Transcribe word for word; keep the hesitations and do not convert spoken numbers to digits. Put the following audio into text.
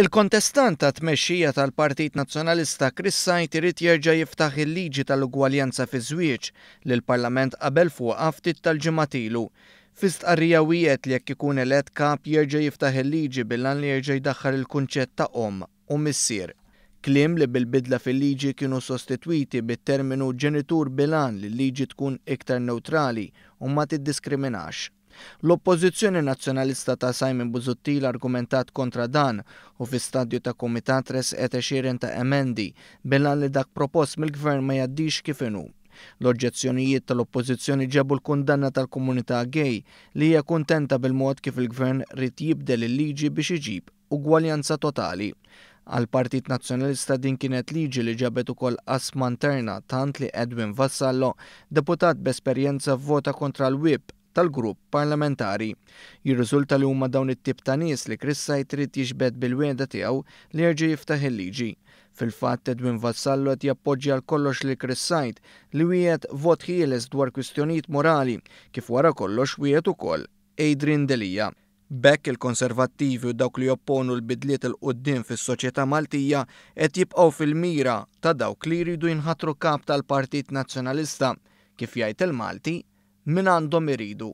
Il-kontestant tat-tmexxija tal-Partit Nazzjonalista Chris Said irid jerġa' jiftaħ il-liġi tal-ugwaljanza fiż-żwieġ li l-Parlament qabel fuqha ftit tal-ġimgħat ilu. Fi stqarrija wiegħed li jekk ikun elett kap jerġa' jiftaħ il-liġi bil-għan li jerġa' jdaħħal il-kunċett ta' omm u missier. Kliem li bil-bidla fil-liġi kienu sostitwiti bit-terminu ġenitur bil-għan li l-liġi tkun iktar newtrali u ma tiddiskriminax. L-Oppożizzjoni Nazzjonalista ta' Simon Busuttil argumentat kontra dan u fi stadju ta' kumitat resqet għexieren ta' emendi bil-għan li dak propost mill-Gvern ma jgħaddix kif inhu. L-oġġezzjonijiet tal-Oppożizzjoni ġabu l-kundanna tal-komunità gay li hija kuntenta bil-mod kif il-Gvern ried jibdel il-liġi biex iġib ugwaljanza totali. Għall-Partit Nazzjonalista din kienet liġi li ġabet ukoll qasma interna tant li Edwin Vassallo, deputat b'esperjenza, vvota kontra l-whip tal-grupp parlamentari. Jirriżulta li huma dawn it-tip ta' nies li Chris Said irid jiġbed bil-wegħda tiegħu li jerġa' jiftaħ il-liġi. Fil-fatt, Edwin Vassallo qed jappoġġja għal kollox lil Chris Said li wiegħed vot ħieles dwar kwistjonijiet morali kif wara kollox wiegħed ukoll Adrian Delia. B'hekk il-Konservattivi u dawk li jopponu l-bidliet 'il quddiem fis-soċjetà Maltija qed jibqgħu fil-mira ta' dawk li jridu jinħatru kap tal-Partit Nazzjonalista, kif jgħid il-Malti, min għandhom iridu.